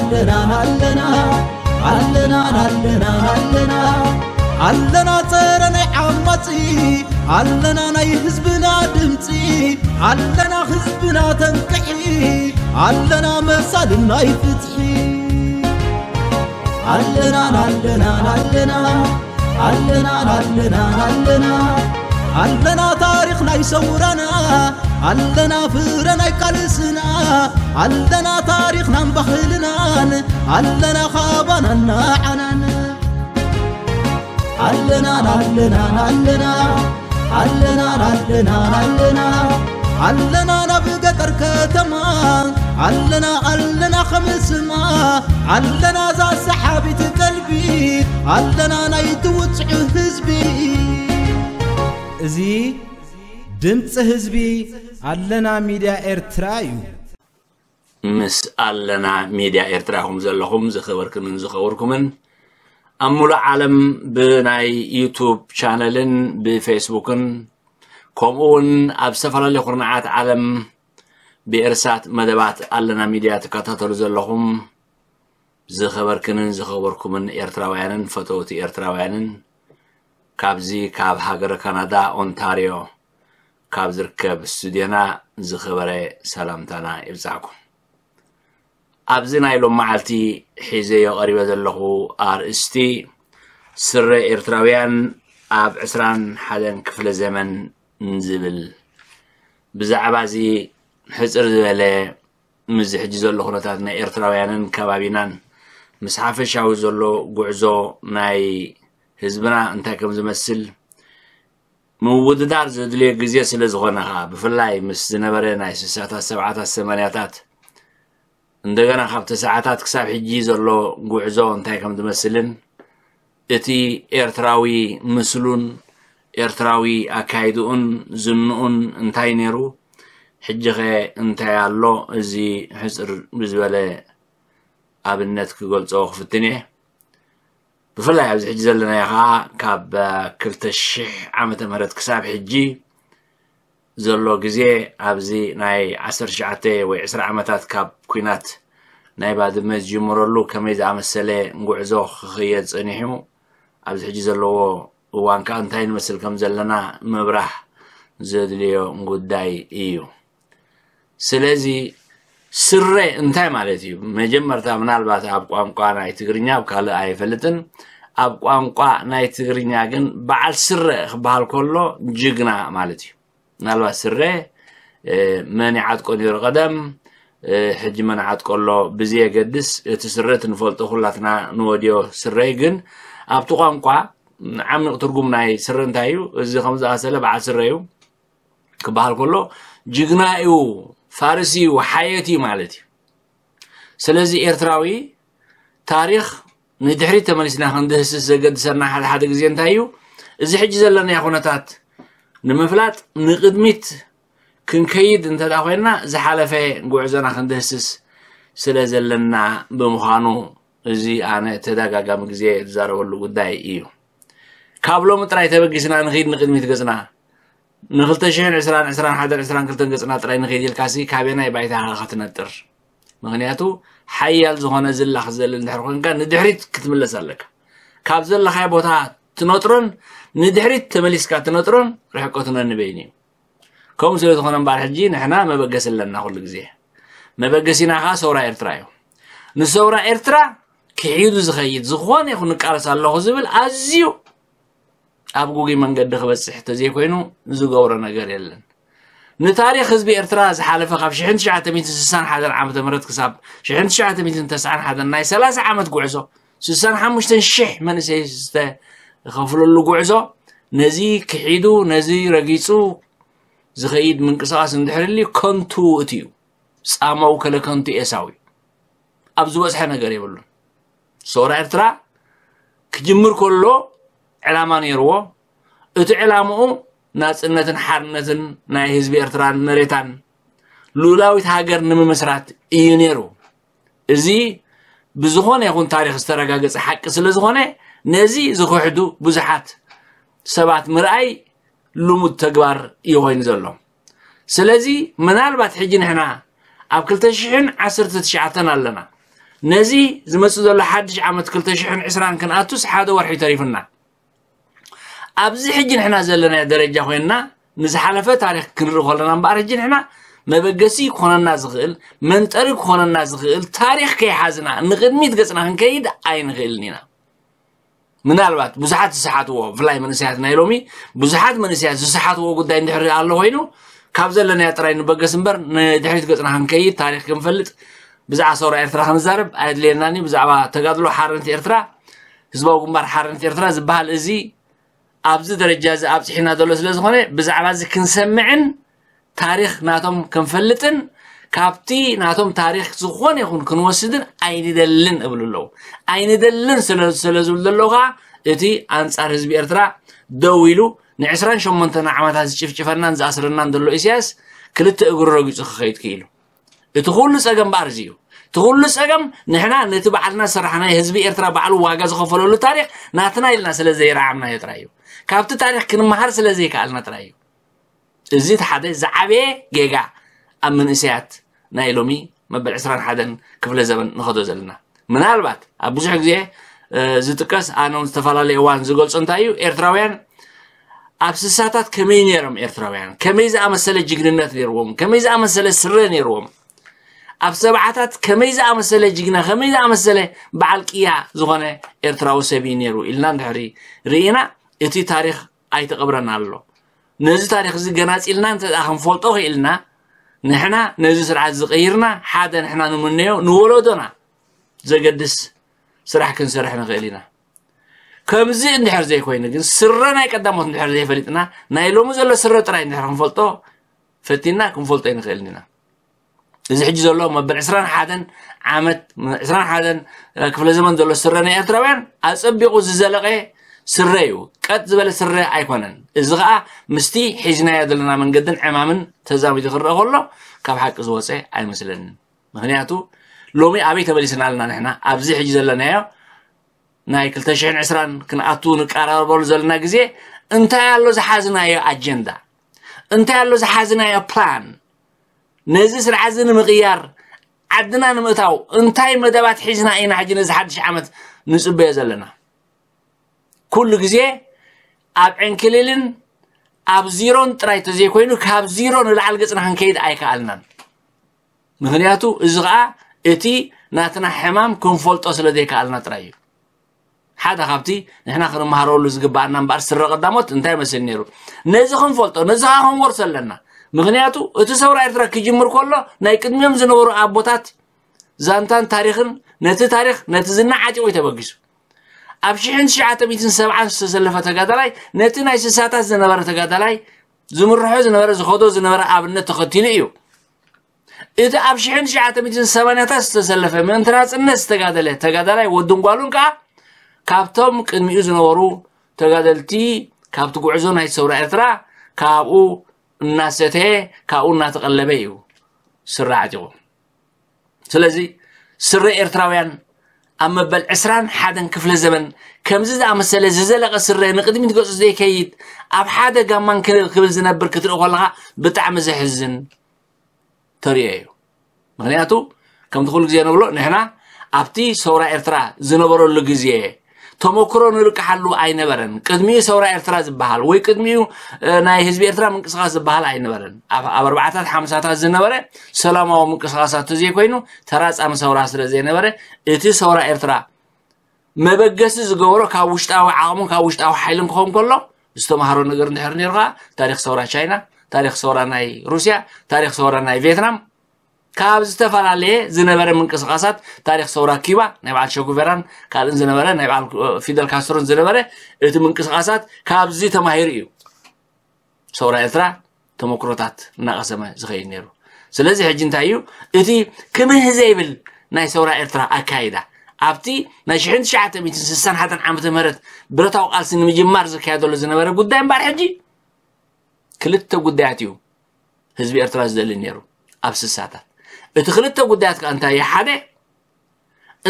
ኣለና ኣለና ኣለና ኣለና ኣለና ኣለና ጸረ ናይ ዓማጺ ኣለና ናይ ህዝብና ድምጺ ኣለና ህዝብና ተንቅሒ ኣለና መሳልን ናይ ፍትሒ ኣለና ኣለና ኣለና ኣለና ኣለና ኣለና ኣለና ታሪኽ ናይ ሰውራና ኣለና ፍረ ናይ ቃልስና ኣለና ታሪኽናን ባህልናን ኣለና ካባናን ንዓናን ኣለና ኣለና ኣለና ኣለና ኣለና ኣለና ኣለና ናብ ገጠር ከተማ ኣለና ኣለና ከምስማ ኣለና ዛ ሰሓቢት ቀልቢ ኣለና ናይ ትውፅዑ ህዝቢ እዚ ድምፂ ህዝቢ ኣለና ሚድያ ኤርትራ እዩ። ምስ ኣለና ሚድያ ኤርትራ ኢኹም ዘለኹም ዝኸበርክንን ዝኸበርኩምን ኣብ ሙሉእ ዓለም ብናይ ዩቱብ ቻነልን ብፌስቡክን ከምኡ እውን ኣብ ዝተፈላለዩ ኩርናዓት ዓለም ብኤርሳት መደባት ኣለና ሚድያ ትከታተሉ ዘለኹም ዝኸበርክንን ዝኸበርኩምን ኤርትራውያንን ፈተውቲ ኤርትራውያንን ካብዚ ካብ ሃገረ ካናዳ ኦንታርዮ ካብ ዝርከብ ስቱድዮና ዝኸበረ ሰላምታና ይብጻሕኩም። ኣብዚ ናይ ሎም መዓልቲ ሒዘዮ ቀሪበ ዘለኹ ኣርእስቲ ስረ ኤርትራውያን ኣብ ዕስራን ሓደን ክፍለ ዘመን ዝብል ብዛዕባ እዚ ሕጽር ዝበለ ምስዚ ሕጂ ዘሎ ኩነታት ናይ ኤርትራውያንን ከባቢናን ምስ ሓፈሻዊ ዘሎ ጉዕዞ ናይ ህዝብና እንታይ ከም ዝመስል ምውድዳር ዘድልዮ ግዜ ስለ ዝኾነ ኸዓ ብፍላይ ምስ ዝነበረ ናይ ስሳታት ሰብዓታት ሰማንያታት እንደገና ካብ ተስዓታት ክሳብ ሕጂ ዘሎ ጉዕዞ እንታይ ከም ዝመስልን እቲ ኤርትራዊ ምስሉን ኤርትራዊ ኣካይድኡን ዝንኡን እንታይ ነይሩ ሕጂ ኸ እንታይ ኣሎ እዚ ሕፅር ብዝበለ ኣብነት ክገልፆ ክፍትን እየ። ብፍላይ ኣብዚ ሕጂ ዘለናዮ ከዓ ካብ ክልተ ሽሕ ዓመተ ምህረት ክሳብ ሕጂ ዘሎ ግዜ ኣብዚ ናይ ዓሰርተ ትሽዓተ ወይ ዕስራ ዓመታት ካብ ኲናት ናይ ባድመ ዝጅምረሉ ከመይ ዝኣመሰለ ጉዕዞ ክኽየድ ጸኒሑ ኣብዚ ሕጂ ዘለዎ እዋን ከዓ እንታይ ንመስል ከም ዘለና ምብራህ ዘድልዮ ጉዳይ እዩ። ስለዚ ስረ እንታይ ማለት እዩ? መጀመርታ ምናልባት ኣብ ቋንቋ ናይ ትግርኛ ኣብ ካልእ ኣይፈልጥን፣ ኣብ ቋንቋ ናይ ትግርኛ ግን በዓል ስረ ክበሃል ከሎ ጅግና ማለት እዩ። ምናልባት ስረ መን ይዓጥቆ ነይሩ ቀደም፣ ሕጂ መን ዓጥቆ ኣሎ ብዘየገድስ እቲ ስረ እቲ ንፈልጦ ኩላትና ንወድዮ ስረ እዩ። ግን ኣብቲ ቋንቋ ዓሚቕ ትርጉም ናይ ስረ እንታይ እዩ? እዚ ከም ዝኣሰለ በዓል ስረ እዩ ክበሃል ከሎ ጅግና እዩ፣ ፋርስ እዩ፣ ሓየት እዩ ማለት እዩ። ስለዚ ኤርትራዊ ታሪኽ ንድሕሪት ተመሊስና ክንድህስስ ዘገድሰና ሓደ ሓደ ግዜ እንታይ እዩ? እዚ ሕጂ ዘለናዮ ኩነታት ንምፍላጥ ንቕድሚት ክንከይድ እንተ ደኣ ኮይንና ዝሓለፈ ጉዕዞና ክንድህስስ ስለ ዘለና ብምዃኑ እዚ ኣነ ተደጋጋሚ ግዜ ዝዛረበሉ ጉዳይ እዩ። ካብ ሎሚ ጥራይ ተበጊስና ንኺድ ንቕድሚት ገጽና ንክልተ ሽሕን ዕስራን ዕስራን ሓደን ዕስራን ክልተን ገጽና ጥራይ ንኺድ ኢልካሲ ካበናይ ባይታ ኢኻ ክትነጥር? ምኽንያቱ ሓያል ዝኾነ ዝላ ክዘልል እንድሕር ኮንካ ንድሕሪት ክትምለስ ኣለካ። ካብ ዘለኻዮ ቦታ ትነጥሮን ንድሕሪት ተመሊስካ ትነጥሮን ርሕቀቱ ነንበይኑ እዩ። ከምኡ ስለ ዝኾነ እምበኣር ሕጂ ንሕና መበገሲ ኣለና ኩሉ ግዜ። መበገሲና ኸዓ ሰውራ ኤርትራ እዩ። ንሰውራ ኤርትራ ክሒዱ ዝኸይድ ዝኾነ ይኹን እቃለስ ኣለኹ ዝብል ኣዝዩ ኣብ ጉጉይ መንገዲ ክበጽሕ ተዘይኮይኑ ዝገብሮ ነገር የለን። ንታሪኽ ህዝቢ ኤርትራ ዝሓለፈ ካብ ሽሕን ትሽዓተ ሚእትን ስሳን ሓደን ዓመተ ምህረት ክሳብ ሽሕን ትሽዓተ ሚእትን ተስዓን ሓደን ናይ ሰላሳ ዓመት ጉዕዞ ስሳን ሓሙሽተን ሽሕ መንእሰይ ዝተኸፍለሉ ጉዕዞ ነዚ ክሒዱ ነዚ ረጊጹ ዝኸይድ ምንቅስቓስ እንድሕር ልዩ ከንቱ ውእቲ እዩ። ጻማው ከለ ከንቱ ኤሳው እዩ። ኣብ ዝበጽሐ ነገር የብሉን። ሰውራ ኤርትራ ክጅምር ከሎ ዕላማ ነይርዎ። እቲ ዕላምኡ ናጽነትን ሓርነትን ናይ ህዝቢ ኤርትራን መሬታን ልኡላዊት ሃገር ንምምስራት እዩ ነይሩ። እዚ ብዝኾነ ይኹን ታሪኽ ዝተረጋገጸ ሓቂ ስለ ዝኾነ ነዚ ዝኽሕዱ ብዙሓት ሰባት ምርኣይ ልሙድ ተግባር እዩ ኮይኑ ዘሎ። ስለዚ ምናልባት ሕጂ ንሕና ኣብ ክልተ ሽሕን ዓሰርተ ትሽዓተን ኣለና። ነዚ ዝመጽእ ዘሎ ሓድሽ ዓመት ክልተ ሽሕን ዕስራን ክንኣቱስ ሓደ ወርሒ ተሪፍና። ኣብዚ ሕጂ ንሕና ዘለናዮ ደረጃ ኮይንና ንዝሓለፈ ታሪኽ ክንርኢ ከለና እምበኣር ሕጂ ንሕና መበገሲ ክኾነና ዝኽእል መንጠሪ ክኾነና ዝኽእል ታሪኽ ከይሓዝና ንቕድሚት ገጽና ክንከይድ ኣይንኽእልን ኢና። ምናልባት ብዙሓት ዝሰሓትዎ ብፍላይ መንእሰያት ናይ ሎሚ ብዙሓት መንእሰያት ዝሰሓትዎ ጉዳይ እንድሕር ኣሎ ኮይኑ ካብ ዘለናዮ ጥራይ ንበገስ እምበር ንድሕሪት ገጽና ክንከይድ ታሪኽ ክንፈልጥ ብዛዕባ ሰውራ ኤርትራ ክንዛረብ ኣየድልየናን እዩ። ብዛዕባ ተጋድሎ ሓርነት ኤርትራ ህዝባዊ ግንባር ሓርነት ኤርትራ ዝበሃል እዚ ኣብዚ ደረጃ እዚ ኣብፅሒና ዘሎ ስለ ዝኾነ ብዛዕባ እዚ ክንሰምዕን ታሪኽ ናቶም ክንፈልጥን ካብቲ ናቶም ታሪኽ ዝኾነ ይኹን ክንወስድን ኣይንደልን እብሉ ኣለዉ። ኣይንደልን ስለ ዝብሉ ዘለዉ ከዓ እቲ ኣንፃር ህዝቢ ኤርትራ ደው ኢሉ ንዕስራን ሸሞንተን ዓመታት ዝጭፍጭፈናን ዝኣስረናን ዘሎ ኢሳያስ ክልተ እግሩ ረጊፁ ክኸይድ ክኢሉ። እቲ ኩሉ ፀገም በኣር እዚ እዩ። እቲ ኩሉ ፀገም ንሕና ነቲ ባዕልና ዝሰራሕናዮ ህዝቢ ኤርትራ ባዕሉ ዋጋ ዝኸፈለሉ ታሪኽ ናትና ኢልና ስለ ዘይረዓምናዮ ጥራይ እዩ። ካብቲ ታሪኽ ክንመሃር ስለ ዘይከኣልና ጥራይ እዩ። እዚ እቲ ሓደ ዝዓበየ ጌጋ ኣብ መንእሰያት ናይ ሎሚ መበል ዕስራን ሓደን ክፍለ ዘበን ንኸዶ ዘለና ምናልባት ኣብ ብዙሕ ግዜ ዝጥቀስ ኣነ ዝተፈላለዩ እዋን ዝገልጾ እንታይ እዩ ኤርትራውያን ኣብ ስሳታት ከመይ ነይሮም ኤርትራውያን ከመይ ዝኣመሰለ ጅግንነት ነይርዎም ከመይ ዝኣመሰለ ስረ ነይርዎም ኣብ ሰብዓታት ከመይ ዝኣመሰለ ጅግና ከመይ ዝኣመሰለ በዓል ቅያ ዝኾነ ኤርትራዊ ሰብ እዩ ነይሩ ኢልና እንድሕሪ ርኢና እቲ ታሪኽ ኣይተቐብረን ኣሎ ነዚ ታሪኽ እዚ ገናጺልና እንተ ክንፈልጦ ክኢልና ንሕና ነዚ ስርዓት ዝቐይርና ሓደ ንሕና ንምነዮ ንወለዶና ዘገድስ ስራሕ ክንሰርሕ ንኽእል ኢና ከምዚ እንድሕር ዘይኮይኑ ግን ስረ ናይ ቀዳሞት እንድሕር ዘይፈሊጥና ናይ ሎሚ ዘሎ ስረ ጥራይ እንድሕር ክንፈልጦ ፈቲና ክንፈልጦ ኣይንኽእልን ኢና እዚ ሕጂ ዘሎ መበል ዕስራን ሓደን ዓመት ዕስራን ሓደን ክፍለ ዘመን ዘሎ ስረ ናይ ኤርትራውያን ኣጸቢቑ ዝዘለቐ ስረ እዩ ቀጥ ዝበለ ስረ ኣይኮነን እዚ ኸዓ ምስቲ ሒዝናዮ ዘለና መንገድን ዕማምን ተዛሚዱ ክረአ ከሎ ካብ ሓቂ ዝወፀ ኣይመስለንን ምክንያቱ ሎሚ ኣበይ ተመሊስና ኣለና ንሕና ኣብዚ ሕጂ ዘለናዮ ናይ ክልተ ሽሕን ዕስራን ክንኣቱ ንቀራረበሉ ዘለና ግዜ እንታይ ኣሎ ዝሓዝናዮ ኣጀንዳ እንታይ ኣሎ ዝሓዝናዮ ፕላን ነዚ ስርዓት እዚ ንምቕያር ዓድና ንምእታው እንታይ መደባት ሒዝና ኢና ሕጂ ነዚ ሓድሽ ዓመት ንፅበዮ ዘለና ኩሉ ግዜ ኣብ ዕንክልልን ኣብ ዚሮን ጥራይ ተዘይኮይኑ ካብ ዚሮ ንላዕሊ ገፅና ክንከይድ ኣይከኣልናን ምክንያቱ እዚ ከዓ እቲ ናትና ሕማም ክንፈልጦ ስለ ዘይከኣልና ጥራይ እዩ ሓደ ካብቲ ንሕና ክንመሃረሉ ዝግባኣና እምበኣር ስረ ቀዳሞት እንታይ መስል ነይሩ ነዚ ክንፈልጦ ነዚ ከዓ ክንወርሶ ኣለና ምክንያቱ እቲ ሰውራ ኤርትራ ክጅምር ከሎ ናይ ቅድሚኦም ዝነበሩ ኣቦታት ዛንታን ታሪኽን ነቲ ታሪኽ ነቲ ዝና ዓጢቑ እዩ ተበጊሱ ኣብ ሽሕን ትሽዓተ ሚእትን ሰብዓን ዝተሰለፈ ተጋዳላይ ነቲ ናይ ስሳታት ዝነበረ ተጋዳላይ ዝምርሖ ዝነበረ ዝኸዶ ዝነበረ ኣብነት ተኸቲሉ እዩ እቲ ኣብ ሽሕን ትሽዓተ ሚእትን ሰማንያታት ዝተሰለፈ ምእንቲ ናፅነት ዝተጋደለ ተጋዳላይ ወድን ጓሉን ከዓ ካብቶም ቅድሚኡ ዝነበሩ ተጋደልቲ ካብቲ ጉዕዞ ናይ ሰውራ ኤርትራ ካብኡ እናሰተየ ካብኡ እናተቐለበ እዩ ስረ ዓጢቑ ስለዚ ስረ ኤርትራውያን ኣብ መበል ዕስራን ሓደን ክፍለ ዘበን ከምዚ ዝኣመሰለ ዝዘለቐ ስረ ንቕድሚት ገፁ ዘይከይድ ኣብ ሓደ ጋማን ክልል ክብል ዝነብር ክትርኢ ከለኻ ብጣዕሚ ዘሕዝን ተርእዮ እዩ ምክንያቱ ከምቲ ኩሉ ግዜ ንብሎ ንሕና ኣብቲ ሰውራ ኤርትራ ዝነበረሉ ግዜ ተመክሮ ንርቅሓሉ ኣይነበረን ቅድሚኡ ሰውራ ኤርትራ ዝበሃል ወይ ቅድሚኡ ናይ ህዝቢ ኤርትራ ምንቅስቃስ ዝበሃል ኣይነበረን ኣብ ኣርባዕታት ሓምሳታት ዝነበረ ሰላማዊ ምንቅስቃሳት ተዘይኮይኑ ተራፃሚ ሰውራ ስለ ዘይነበረ እቲ ሰውራ ኤርትራ መበገሲ ዝገበሮ ካብ ውሽጣዊ ዓቕሙን ካብ ውሽጣዊ ሓይልን ክኸውን ከሎ ዝተምሃሮ ነገር እንድሕር ነይሩ ከዓ ታሪክ ሰውራ ቻይና ታሪክ ሰውራ ናይ ሩስያ ታሪክ ሰውራ ናይ ቬትናም ካብ ዝተፈላለየ ዝነበረ ምንቅስቃሳት ታሪክ ሰውራ ኪባ ናይ በዓል ሸጉቬራን ካልእን ዝነበረ ናይ በዓል ፊደል ካስትሮን ዝነበረ እቲ ምንቅስቃሳት ካብዚ ተማሂሩ እዩ ሰውራ ኤርትራ ተመክሮታት እናቐሰመ ዝኸይድ ነይሩ ስለዚ ሕጂ እንታይ እዩ እቲ ክምህ ዘይብል ናይ ሰውራ ኤርትራ ኣካይዳ ኣብቲ ናይ ሽሕን ትሽዓተ ሚእትን ስሳን ሓደን ዓመተ ምህረት ብረታዊ ቃልሲ ንምጅማር ዝካየደሉ ዝነበረ ጉዳይ እምበኣር ሕጂ ክልተ ጉዳያት እዩ ህዝቢ ኤርትራ ዝደሊ ነይሩ ኣብ ስሳታት እቲ ክልተ ጉዳያት ከዓ እንታይ ሓደ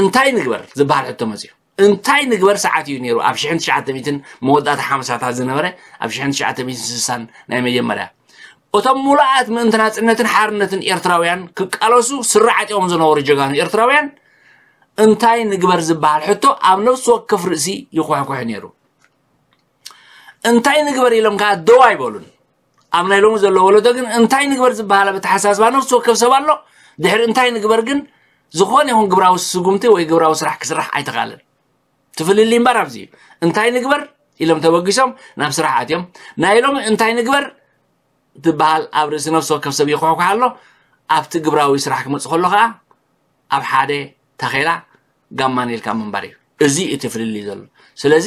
እንታይ ንግበር ዝበሃል ሕቶ መፅዩ እንታይ ንግበር ሰዓት እዩ ነይሩ ኣብ ሽሕን ትሽዓተ ሚእትን መወዳእታ ሓምሳታት ዝነበረ ኣብ ሽሕን ትሽዓተ ሚእትን ስሳን ናይ መጀመርያ እቶም ሙሉኣት ምእንቲ ናፅነትን ሓርነትን ኤርትራውያን ክቃለሱ ስረ ዓጢቖም ዝነበሩ ጀጋኑ ኤርትራውያን እንታይ ንግበር ዝበሃል ሕቶ ኣብ ነፍሲ ወከፍ ርእሲ ይኹሕኩሕ ነይሩ። እንታይ ንግበር ኢሎም ከዓ ደው ኣይበሉን። ኣብ ናይ ሎሚ ዘሎ ወለዶ ግን እንታይ ንግበር ዝበሃል ኣብ ኣተሓሳስባ ነፍሲ ወከፍ ሰብ ኣሎ። ድሕሪ እንታይ ንግበር ግን ዝኾነ ይኹን ግብራዊ ስጉምቲ ወይ ግብራዊ ስራሕ ክስራሕ ኣይተኻእለን። ትፍልሊ እምበር ኣብዚ እዩ። እንታይ ንግበር ኢሎም ተበጊሶም ናብ ስራሕ ኣትዮም። ናይ ሎሚ እንታይ ንግበር ዝበሃል ኣብ ርእሲ ነፍሲ ወከፍ ሰብ ይኹሕኩሕ ኣሎ። ኣብቲ ግብራዊ ስራሕ ክመጽእ ከሎ ከዓ ኣብ ሓደ ታኼላ ጋማን ኢልካ ምንባር እዩ። እዚ እቲ ፍልልይ ዘሎ። ስለዚ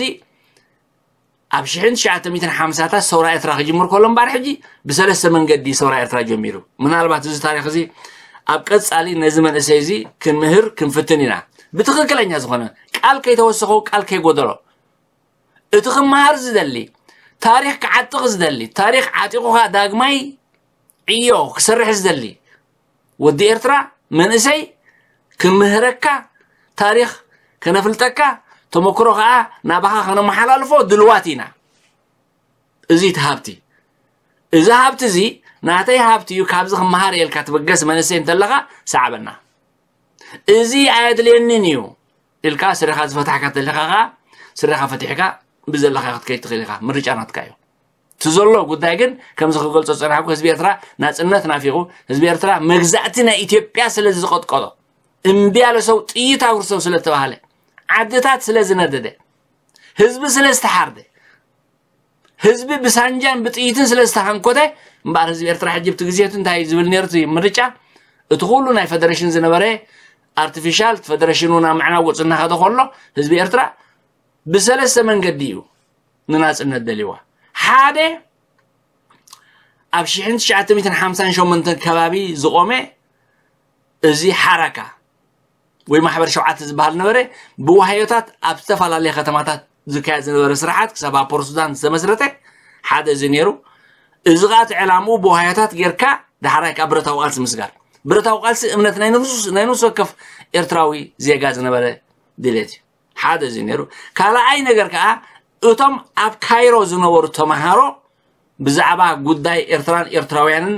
ኣብ ሽሕን ትሽዓተ ሚእትን ሓምሳታት ሰውራ ኤርትራ ክጅምር ከሎ እምበኣር ሕጂ ብሰለስተ መንገዲ ሰውራ ኤርትራ ጀሚሩ። ምናልባት እዚ ታሪኽ እዚ ኣብ ቀጻሊ ነዚ መንእሰይ እዚ ክንምህር ክንፍትን ኢና። ብትኽክለኛ ዝኾነ ቃል ከይተወሰኸው ቃል ከይጎደሎ እቲ ክመሃር ዝደሊ ታሪኽ ክዓጥቕ ዝደሊ ታሪኽ ዓጢቑኻ ዳግማይ ዕዮ ክሰርሕ ዝደሊ ወዲ ኤርትራ መንእሰይ ክምህረካ ታሪኽ ከነፍልጠካ ተመክሮ ከዓ ናባኻ ከነመሓላልፎ ድልዋት ኢና። እዚ እቲ ሃብቲ እዚ ሃብቲ እዚ ናተይ ሃብቲ እዩ። ካብዚ ክመሃር የልካ ትበገስ መንእሰይ እንተለኻ ሰዓበና። እዚ ኣየድልየንን እዩ ኢልካ ስረኻ ዝፈታሕካ ተለኻ ከዓ ስረኻ ፈቲሕካ ብዘለኻ ክትከይድ ትኽእል ኢኻ። ምርጫ ናትካ እዩ። እቲ ዘሎ ጉዳይ ግን ከምዚ ክገልጾ ዝጸናሕኩ ህዝቢ ኤርትራ ናጽነት ናፊቑ ህዝቢ ኤርትራ መግዛእቲ ናይ ኢትዮጵያ ስለ ዝቐጥቀጦ እምቢ ያለ ሰው ጥይት ኣጉርሰው ስለተባህለ ዓድታት ስለ ዝነደደ ህዝቢ ስለ ዝተሓርደ ህዝቢ ብሳንጃን ብጥይትን ስለ ዝተሃንኮተ እምበኣር ህዝቢ ኤርትራ ሕጂ ብቲ ግዜቱ እንታይ ዝብል ነይሩ እቲ ምርጫ እቲ ኩሉ ናይ ፈደሬሽን ዝነበረ ኣርቲፊሻል ፈደሬሽን እውን ኣብ ምዕናው ገፁ እናኸደ ከሎ ህዝቢ ኤርትራ ብሰለስተ መንገዲ እዩ ንናፅነት ደልይዋ ሓደ ኣብ ሽሕን ትሽዓተ ሚእትን ሓምሳን ሸሞንተን ከባቢ ዝቆመ እዚ ሓራካ ወይ ማሕበር ሸውዓተ ዝበሃል ነበረ ብዋህዮታት ኣብ ዝተፈላለየ ከተማታት ዝካየድ ዝነበረ ስራሓት ክሳብ ኣብ ፖርት ሱዳን ዝተመስረተ ሓደ እዚ ነይሩ እዚ ከዓ እቲ ዕላምኡ ብዋህዮታት ጌርካ ዳሕራይ ከዓ ብረታዊ ቃልሲ ምስጋር ብረታዊ ቃልሲ እምነት ናይ ነፍሱ ናይ ነፍሱ ወከፍ ኤርትራዊ ዜጋ ዝነበረ ድሌት እዩ ሓደ እዚ ነይሩ ካልኣይ ነገር ከዓ እቶም ኣብ ካይሮ ዝነበሩ ተምሃሮ ብዛዕባ ጉዳይ ኤርትራን ኤርትራውያንን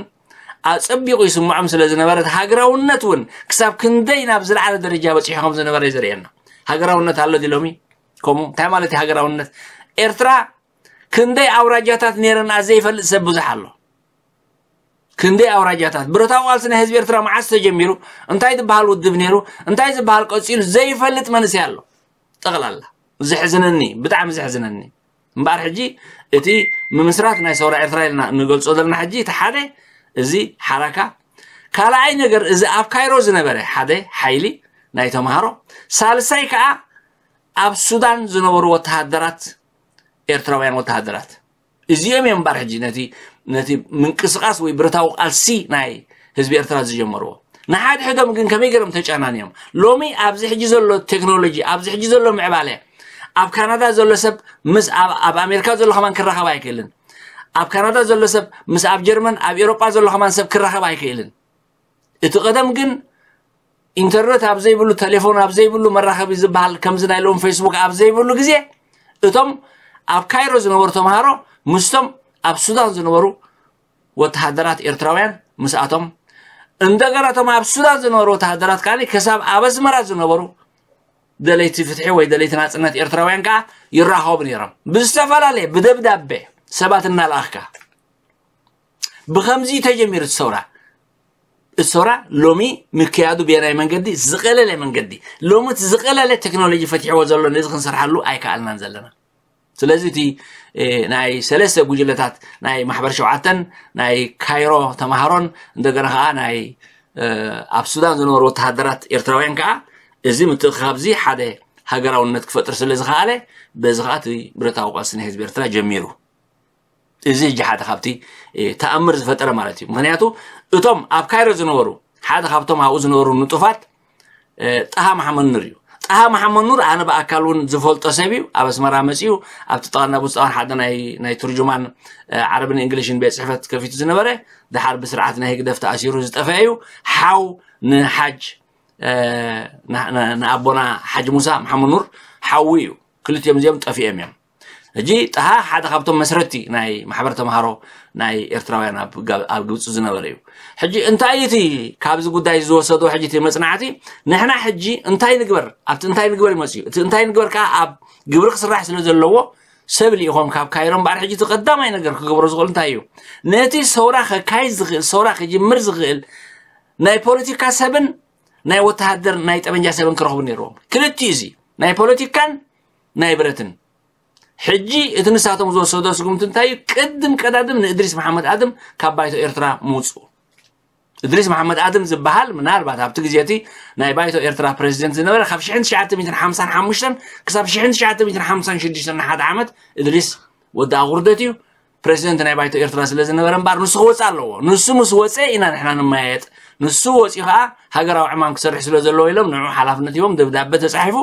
ኣጸቢቑ ይስምዖም ስለ ዝነበረ እቲ ሃገራውነት እውን ክሳብ ክንደይ ናብ ዝለዓለ ደረጃ በጺሑ ከም ዝነበረ እዩ ዘርእየና። ሃገራውነት ኣሎ ድዩ ሎሚ? ከምኡ እንታይ ማለት እዩ ሃገራውነት? ኤርትራ ክንደይ ኣውራጃታት ነይረንኣ ዘይፈልጥ ሰብ ብዙሕ ኣሎ። ክንደይ ኣውራጃታት ብረታዊ ቃልሲ ናይ ህዝቢ ኤርትራ መዓስ ተጀሚሩ እንታይ ዝበሃል ውድብ ነይሩ እንታይ ዝበሃል ቀጺሉ ዘይፈልጥ መንእሰይ ኣሎ። ጠቕላላ ዘሕዝነኒ ብጣዕሚ ዘሕዝነኒ እምበኣር ሕጂ እቲ ምምስራት ናይ ሰውራ ኤርትራ ኢልና ንገልጾ ዘለና ሕጂ እቲ ሓደ እዚ ሓራካ ካልኣይ ነገር እዚ ኣብ ካይሮ ዝነበረ ሓደ ሓይሊ ናይ ተምሃሮ ሳልሳይ ከዓ ኣብ ሱዳን ዝነበሩ ወተሃደራት ኤርትራውያን ወተሃደራት እዚኦም እዮም እምበኣር ሕጂ ነቲ ነቲ ምንቅስቃስ ወይ ብረታዊ ቃልሲ ናይ ህዝቢ ኤርትራ ዝጀመርዎ ንሓድሕዶም ግን ከመይ ገይሮም ተጨናንዮም ሎሚ ኣብዚ ሕጂ ዘሎ ቴክኖሎጂ ኣብዚ ሕጂ ዘሎ ምዕባለ ኣብ ካናዳ ዘሎ ሰብ ምስ ኣብ ኣሜሪካ ዘሎ ከማን ክራኸብ ኣይክእልን ኣብ ካናዳ ዘሎ ሰብ ምስ ኣብ ጀርመን ኣብ ኤሮጳ ዘሎ ከማን ሰብ ክራኸብ ኣይክእልን እቲ ቀደም ግን ኢንተርነት ኣብ ዘይብሉ ቴሌፎን ኣብ ዘይብሉ መራኸቢ ዝበሃል ከምዚ ናይ ሎም ፌስቡክ ኣብ ዘይብሉ ግዜ እቶም ኣብ ካይሮ ዝነበሩ ተምሃሮ ምስቶም ኣብ ሱዳን ዝነበሩ ወተሃደራት ኤርትራውያን ምስኣቶም እንደገና እቶም ኣብ ሱዳን ዝነበሩ ወተሃደራት ከዓ ከሳብ ኣብ ኣስመራ ዝነበሩ ደለይቲ ፍትሒ ወይ ደለይቲ ናፅነት ኤርትራውያን ከዓ ይራኸቡ ነይሮም ብዝተፈላለየ ብደብዳቤ ሰባት እናለኣኽካ ብኸምዚ ተጀሚሩ እቲ ሰውራ እቲ ሰውራ ሎሚ ምክያዱ ብየናይ መንገዲ ዝቐለለ መንገዲ ሎሚ እቲ ዝቐለለ ቴክኖሎጂ ፈትሕዎ ዘሎ ነዚ ክንሰርሓሉ ኣይከኣልናን ዘለና ስለዚ እቲ ናይ ሰለስተ ጉጅለታት ናይ ማሕበር ሸውዓተን ናይ ካይሮ ተምሃሮን እንደገና ከዓ ናይ ኣብ ሱዳን ዝነበሩ ወተሃደራት ኤርትራውያን ከዓ እዚ ምትእኽኻብ እዚ ሓደ ሃገራውነት ክፈጥር ስለ ዝኸኣለ በዚ ከዓ እቲ ብረታዊ ቃልሲ ናይ ህዝቢ ኤርትራ ጀሚሩ እዚ ሕጂ ሓደ ካብቲ ተኣምር ዝፈጠረ ማለት እዩ ምክንያቱ እቶም ኣብ ካይሮ ዝነበሩ ሓደ ካብቶም ኣብኡ ዝነበሩ ንጡፋት ጣሃ መሓመድ ኑር እዩ ጣሃ መሓመድ ኑር ኣነ ብኣካል እውን ዝፈልጦ ሰብ እዩ ኣብ ኣስመራ መፅኡ ኣብቲ ጠቐና ብዝጠቐን ሓደ ናይ ትርጁማን ዓረብን እንግሊሽን ቤት ፅሕፈት ከፊቱ ዝነበረ ድሓር ብስርዓት ናይ ህግደፍ ተኣሲሩ ዝጠፈአ እዩ ሓው ንሓጅ ንኣቦና ሓጅ ሙሳ መሓመድ ኑር ሓዊ እዩ ክልቲኦም እዚኦም ጠፊኦም እዮም ሕጂ ጣሃ ሓደ ካብቶም መስረቲ ናይ ማሕበር ተምሃሮ ናይ ኤርትራውያን ኣብ ጋ- ኣብ ግብፂ ዝነበረ እዩ። ሕጂ እንታይ እዩ እቲ ካብዚ ጉዳይ ዝወሰዶ ሕጂ እቲ መፅናዕቲ? ንሕና ሕጂ እንታይ ንግበር ኣብቲ እንታይ ንግበር ይመፅእ እዩ። እቲ እንታይ ንግበር ከዓ ኣብ ግብሪ ክስራሕ ስለ ዘለዎ ሰብ ልኢኾም ካብ ካይሮ እምበኣር ሕጂ እቲ ቀዳማይ ነገር ክገብሮ ዝኽእል እንታይ እዩ? ነቲ ሰውራ ከካይድ ዝኽእል ሰውራ ክጅምር ዝኽእል ናይ ፖለቲካ ሰብን ናይ ወተሃደር ናይ ጠበንጃ ሰብን ክረኽቡ ነይርዎም። ክልቲኡ እዚ ናይ ፖለቲካን ናይ ብረትን። ሕጂ እቲ ንሳቶም ዝወሰዶ ስጉምቲ እንታይ እዩ? ቅድም ቀዳድም ንእድሪስ መሓመድ ኣድም ካብ ባይቶ ኤርትራ ምውፅኡ። እድሪስ መሓመድ ኣድም ዝበሃል ምናልባት ኣብቲ ግዜ እቲ ናይ ባይቶ ኤርትራ ፕሬዚደንት ዝነበረ ካብ ሽሕን ትሽዓተ ሚእትን ሓምሳን ሓሙሽተን ክሳብ ሽሕን ትሽዓተ ሚእትን ሓምሳን ሽዱሽተን ንሓደ ዓመት እድሪስ ወዲ ኣቑርደት እዩ። ፕሬዚደንት ናይ ባይቶ ኤርትራ ስለ ዝነበረ እምበኣር ንሱ ክወፅእ ኣለዎ። ንሱ ምስ ወፀ ኢና ንሕና ንመያየጥ። ንሱ ወፂኡ ከዓ ሃገራዊ ዕማም ክሰርሕ ስለ ዘለዎ ኢሎም ንዑ ሓላፍነት ሂቦም ደብዳበ ተፃሒፉ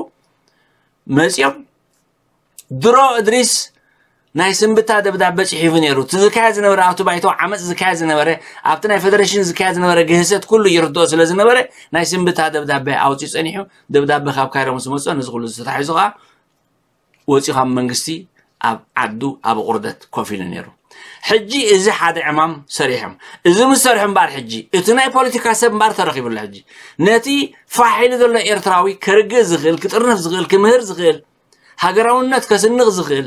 መፂኦም። ድሮ እድሪስ ናይ ስንብታ ደብዳበ ፅሒፉ ነይሩ። እቲ ዝካየድ ዝነበረ ኣብቲ ባይቶ ዓመፅ ዝካየድ ዝነበረ ኣብቲ ናይ ፌደሬሽን ዝካየድ ዝነበረ ግህሰት ኩሉ ይርድኦ ስለ ዝነበረ ናይ ስንብታ ደብዳበ ኣውፅኡ ፀኒሑ። ደብዳበ ካብ ካይሮ ምስ መፅኦ ነዚ ኩሉ ተታሒዙ ከዓ ወፂኡ ካብ መንግስቲ ኣብ ዓዱ ኣብ ቁርደት ኮፍ ኢሉ ነይሩ። ሕጂ እዚ ሓደ ዕማም ሰሪሖም። እዚ ምስ ሰርሑ እምበኣር ሕጂ እቲ ናይ ፖለቲካ ሰብ እምበኣር ተረኺቡ ኣሎ። ሕጂ ነቲ ፋሕ ኢሉ ዘሎ ኤርትራዊ ከርግእ ዝኽእል ክጥርንፍ ዝኽእል ክምህር ዝኽእል ሃገራውነት ከስንቕ ዝኽእል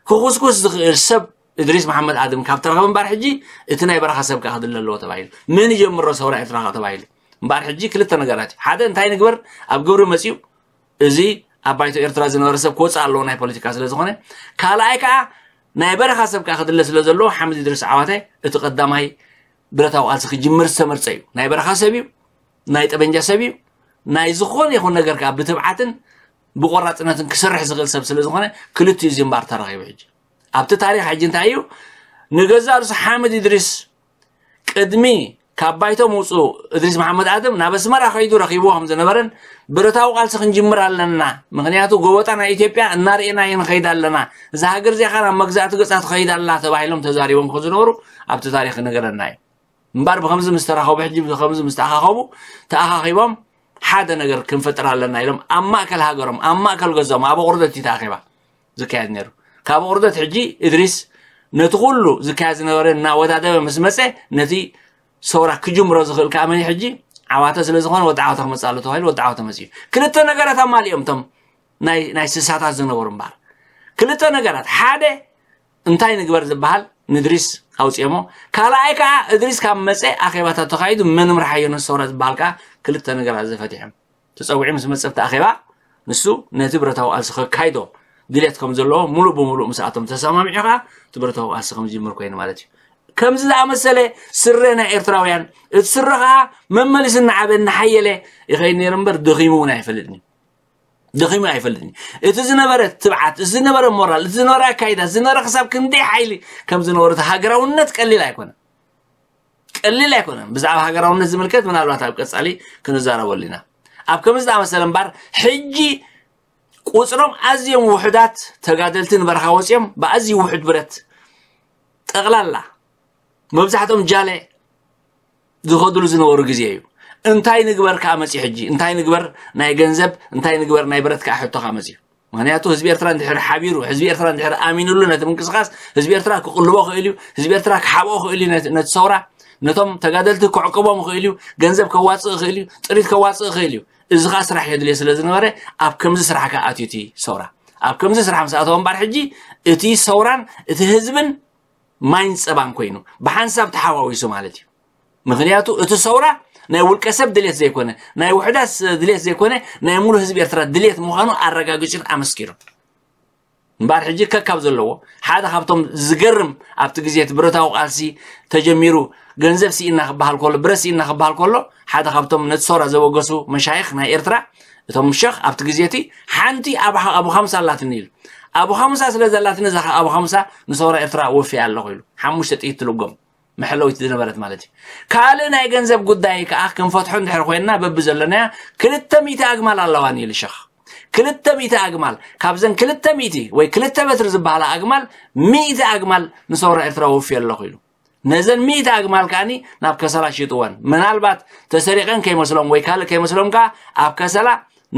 ክኹስኩስ ዝኽእል ሰብ እድሪስ መሓመድ ኣድም ካብ ተረኸበ እምበኣር ሕጂ እቲ ናይ በረኻ ሰብ ከዓ ክድለ ኣለዎ ተባሂሉ። መን ይጀምሮ ሰውራ ኤርትራ ከዓ ተባሂሉ። እምበኣር ሕጂ ክልተ ነገራት እዩ። ሓደ እንታይ ንግበር ኣብ ግብሪ መፅዩ እዚ ኣብ ባይቶ ኤርትራ ዝነበረ ሰብ ክወፅእ ኣለዎ ናይ ፖለቲካ ስለ ዝኾነ፣ ካልኣይ ከዓ ናይ በረኻ ሰብ ከዓ ክድለ ስለ ዘለዎ ሓምድ እድሪስ ዓዋተ እቲ ቀዳማይ ብረታዊ ቃልሲ ክጅምር ዝተመርፀ እዩ። ናይ በረኻ ሰብ እዩ፣ ናይ ጠበንጃ ሰብ እዩ። ናይ ዝኾነ ይኹን ነገር ከዓ ብትብዓትን ብቆራፅነትን ክሰርሕ ዝኽእል ሰብ ስለ ዝኾነ ክልቲኡ እዚ እምበኣር ተረኺቡ። ሕጂ ኣብቲ ታሪክ ሕጂ እንታይ እዩ ንገዛእ ርእሱ ሓምድ እድሪስ ቅድሚ ካብ ባይቶ ምውፅኡ እድሪስ መሓመድ ኣደም ናብ ኣስመራ ከይዱ ረኺብዎ ከም ዝነበረን ብረታዊ ቃልሲ ክንጅምር ኣለና፣ ምክንያቱ ጎበጣ ናይ ኢትዮጵያ እናርኤና ንኸይድ ኣለና፣ እዛ ሃገር እዚኣ ናብ መግዛእቲ ገፃ ትኸይድ ኣላ ተባሂሎም ተዛሪቦም ከም ዝነበሩ ኣብቲ ታሪክ ይነገረና እዩ። እምበር ብከምዚ ምስ ተራኸቡ ሕጂ ብከምዚ ምስ ተኣኻኸቡ ተኣኻኺቦም ሓደ ነገር ክንፈጥር ኣለና ኢሎም ኣብ ማእከል ሃገሮም ኣብ ማእከል ገዞም ኣብ ኣቑርደት እዩ ተኣኺባ ዝካየድ ነይሩ። ካብ ኣቑርደት ሕጂ እድሪስ ነቲ ኩሉ ዝካየድ ዝነበረ እናወዳደበ ምስ መፀ ነቲ ሰውራ ክጅምሮ ዝኽእል ከዓ መን እዩ? ሕጂ ዓዋተ ስለ ዝኾነ ወዲ ዓዋተ ክመፅእ ኣሎ ተባሂሉ ወዲ ዓዋተ መፅኡ። ክልተ ነገራት ኣማሊኦም እቶም ናይ ናይ ስሳታት ዝነበሩ እምበኣር ክልተ ነገራት ሓደ እንታይ ንግበር ዝበሃል ንድሪስ ኣውፅኦሞ። ካልኣይ ከዓ እድሪስ ካብ መፀ ኣኼባታት ተኻይዱ መን ምርሓዮ ነቲ ሰውራ ዝበሃል ከዓ ክልተ ነገራት ዝፈቲሖም ተፀዊዑ ምስ መፀ ኣብቲ ኣኼባ ንሱ ነቲ ብረታዊ ቃልሲ ከካይዶ ድሌት ከም ዘለዎ ሙሉእ ብሙሉእ ምስኣቶም ተሰማሚዑ ከዓ እቲ ብረታዊ ቃልሲ ከም ዝጅምር ኮይኑ ማለት እዩ። ከምዚ ዝኣመሰለ ስረ ናይ ኤርትራውያን እቲ ስረ ከዓ መመሊሱ እናዓበ እናሓየለ ይኸይድ ነይሩ እምበር ደኺሙ እውን ኣይፈልጥን እዩ። ደኺሙ ኣይፈልጥን እዩ። እቲ ዝነበረ ትብዓት፣ እቲ ዝነበረ ሞራል፣ እቲ ዝነበረ ኣካይዳ፣ እቲ ዝነበረ ክሳብ ክንደይ ሓይሊ ከም ዝነበረ እቲ ሃገራውነት ቀሊል ኣይኮነን። ቀሊል ኣይኮነን። ብዛዕባ ሃገራውነት ዝምልከት ምናልባት ኣብ ቀጻሊ ክንዛረበሉ ኢና። ኣብ ከምዚ ዝኣመሰለ እምበር ሕጂ ቁፅሮም ኣዝዮም ውሑዳት ተጋደልቲ ንበረኻ ወፂኦም ብኣዝዩ ውሑድ ብረት ጠቕላላ መብዛሕትኦም ጃለ ዝኸድሉ ዝነበሩ ግዜ እዩ። እንታይ ንግበር ከዓ መፂኡ ሕጂ እንታይ ንግበር ናይ ገንዘብ እንታይ ንግበር ናይ ብረት ከዓ ሕቶ ከዓ መፂኡ። ምክንያቱ ህዝቢ ኤርትራ እንድሕር ሓቢሩ ህዝቢ ኤርትራ እንድሕር ኣሚኑሉ ነቲ ምንቅስቃስ ህዝቢ ኤርትራ ክቕልቦ ክእል እዩ። ህዝቢ ኤርትራ ክሓብኦ ክእል እዩ። ነቲ- ነቲ ሰውራ ነቶም ተጋደልቲ ክዕቅቦም ክእል እዩ። ገንዘብ ከዋፅእ ክእል እዩ። ጥሪት ከዋፅእ ክእል እዩ። እዚ ከዓ ስራሕ የድልዮ ስለ ዝነበረ ኣብ ከምዚ ስራሕ ከዓ ኣትዩ እቲ ሰውራ ኣብ ከምዚ ስራሕ ምስ ኣተወ እምበር ሕጂ እቲ ሰውራን እቲ ህዝብን ማይን ፀባን ኮይኑ ብሓንሳብ ተሓዋዊሱ ማለት እዩ። ምክንያቱ እቲ ሰውራ ናይ ውልቀ ሰብ ድሌት ዘይኮነ ናይ ውሕዳት ድሌት ዘይኮነ ናይ ሙሉ ህዝቢ ኤርትራ ድሌት ምዃኑ ኣረጋጊጹን ኣመስኪሩን። እምበኣር ሕጂ ከካብ ዘለዎ ሓደ ካብቶም ዝገርም ኣብቲ ግዜ እቲ ብረታዊ ቃልሲ ተጀሚሩ ገንዘብ ስኢና ክበሃል ከሎ ብረት ስኢና ክበሃል ከሎ ሓደ ካብቶም ነቲ ሰውራ ዘበገሱ መሻይኽ ናይ ኤርትራ እቶም ሸኽ ኣብቲ ግዜ እቲ ሓንቲ ኣቡ ሓ- ኣቡ ኻምሳ ኣላትኒ ኢሉ ኣቡ ኻምሳ ስለ ዘላትኒ እዛ ኣቡ ኻምሳ ንሰውራ ኤርትራ ወፍያ ኣለኹ ኢሉ ሓሙሽተ ጥይት ትልጎም መሐለዊት ዝነበረት ማለት እዩ። ካልእ ናይ ገንዘብ ጉዳይ ከዓ ክንፈትሖ እንድሕር ኮይንና በቢ ዘለናያ ክልተ ሚእቲ ኣግማል ኣለዋኒ ኢሉ ሸኽ። ክልተ ሚእቲ ኣግማል ካብዘን ክልተ ሚእቲ ወይ ክልተ በትሪ ዝበሃላ ኣግማል ሚእቲ ኣግማል ንሰውራ ኤርትራ ወፍየ ኣለኹ ኢሉ ነዘን ሚእቲ ኣግማል ከዓኒ ናብ ከሰላ ሽጥወን ምናልባት ተሰሪቐን ከይመስሎም ወይ ካልእ ከይመስሎም ከዓ ኣብ ከሰላ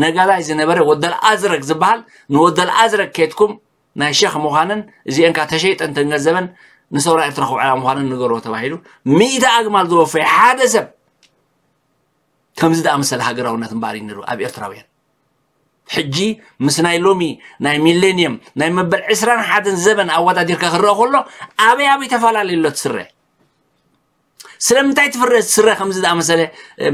ነጋዳይ ዝነበረ ወደል ኣዝረግ ዝበሃል ንወደል ኣዝረግ ኬድኩም ናይ ሸኽ ምዃንን እዚአን ከዓ ተሸይጠን ተንገዘበን ንሰውራ ኤርትራ ክውዕላ ምዃንን ንገርዎ ተባሂሉ ሚእቲ ኣግማል ዝወፈየ ሓደ ሰብ ከምዚ ዝኣመሰለ ሃገራውነት እምበኣር እዩ ነይሩ ኣብ ኤርትራውያን። ሕጂ ምስ ናይ ሎሚ ናይ ሚሌኒየም ናይ መበል ዕስራን ሓደን ዘበን ኣወዳዲርካ ክረአ ከሎ ኣበይ ኣበይ ተፈላለዩ ኣሎ እቲ ስረ? ስለምንታይ ትፍረ ስረ ከምዚ ዝኣመሰለ